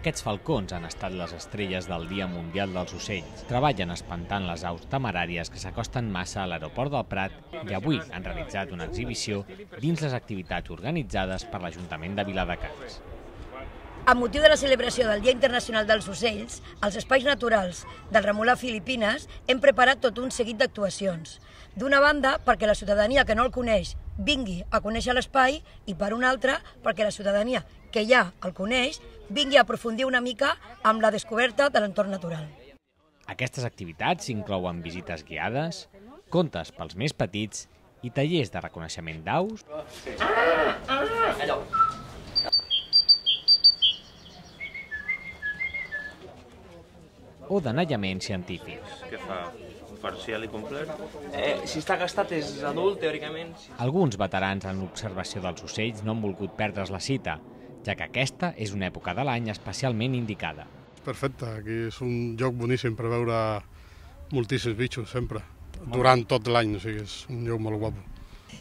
Aquests falcons han estat les estrelles del Dia Mundial dels Ocells. Treballen espantant les aus temeràries que s'acosten massa a l'aeroport del Prat i avui han realitzat una exhibició dins les activitats organitzades per l'Ajuntament de Viladecans. Amb motiu de la celebració del Dia Internacional dels Ocells, als espais naturals del Remolà Filipines hem preparat tot un seguit d'actuacions. D'una banda, perquè la ciutadania que no el coneix vingui a conèixer l'espai i per una altra, perquè la ciutadania que ja el coneix vingui a aprofundir una mica amb la descoberta de l'entorn natural. Aquestes activitats inclouen visites guiades, contes pels més petits i tallers de reconeixement d'aus o d'anellament científic. Què fa? Parcial i complet? Si està gastat és adult, teòricament. Alguns veterans en l'observació dels ocells no han volgut perdre's la cita, ja que aquesta és una època de l'any especialment indicada. Perfecte, aquí és un lloc boníssim per veure moltíssims bitxos sempre, durant tot l'any, o sigui, és un lloc molt guapo.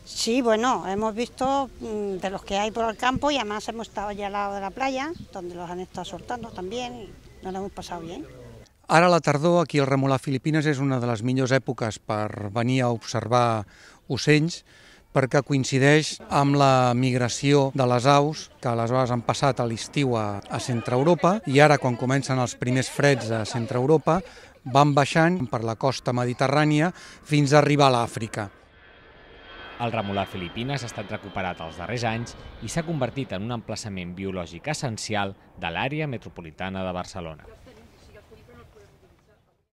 Sí, bueno, hemos visto de los que hay por el campo y además hemos estado allá al lado de la playa, donde los han estado soltando también y nos lo hemos pasado bien. Ara a la tardor, aquí al Remolà Filipines, és una de les millors èpoques per venir a observar ocells, perquè coincideix amb la migració de les aus, que aleshores han passat a l'estiu a Centre-Europa, i ara, quan comencen els primers freds a Centre-Europa, van baixant per la costa mediterrània fins a arribar a l'Àfrica. El Remolà Filipines ha estat recuperat els darrers anys i s'ha convertit en un emplaçament biològic essencial de l'àrea metropolitana de Barcelona.